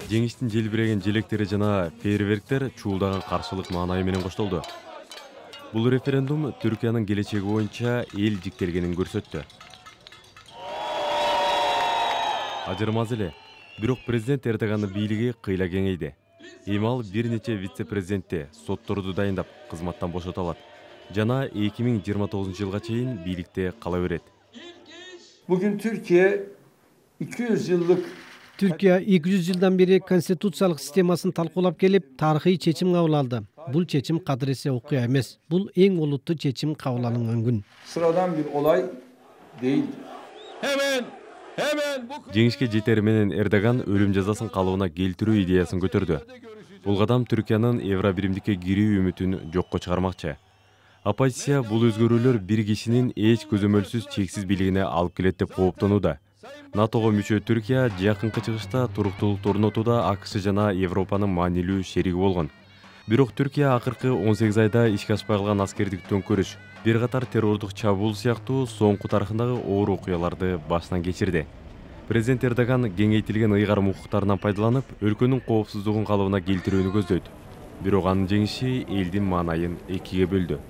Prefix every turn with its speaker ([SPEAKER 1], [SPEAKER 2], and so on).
[SPEAKER 1] Жеңиштин желбиреген желектери жана фейерверктер чуулдаган каршылык маанайы менен коштолду. Бул референдум Түркиянын келечеги боюнча эл жиктелгенин көрсөттү. Ажырмаз эле. Бирок президент Эрдогандын бийлиги кыйла кеңейди. Эми ал бир нече вице-президентти, сотторду дайындап, кызматтан бошото алат. Жана 2029-жылга чейин бийликте кала берет.
[SPEAKER 2] Bugün Türkiye 200 yıllık
[SPEAKER 3] Türkiye 200 yıldan beri konstitusiялык системасын талкуулап келип, тарыхый чечим кабыл алды. Бул чечим кадыресе окуя эмес. Бул эң олуттуу чечим кабыл алынган күн.
[SPEAKER 2] Sıradan bir olay değildi.
[SPEAKER 1] Жеңишке жетери менен Эрдоган өлүм жазасын калыбына келтирүү идеясын көтөрдү. Бул кадам Түркиянын Евробиримдикке кирүү үмүтүн жокко чыгармакчы. Оппозиция бул өзгөрүүлөр бир кишинин эч көзөмөлсүз чексиз бийлигине алып келет деп кооптонууда. НАТОго мүчө Түркия жакынкы чыгышта туруктуулукту орнотууда АКШ жана Европанын маанилүү шериги болгон. Бирок Түркия акыркы 18 айда ишке ашпай калган аскердик төңкөрүш, бир катар террордук чабуул сыяктуу соңку тарыхындагы оор окуяларды башынан кечирди. Президент Эрдоган кеңейтилген ыйгарым укуктарынан пайдаланып, өлкөнүн коопсуздугун калыбына келтирүүнү көздөйт. Бирок анын жеңиши элдин маанайын экиге бөлдү.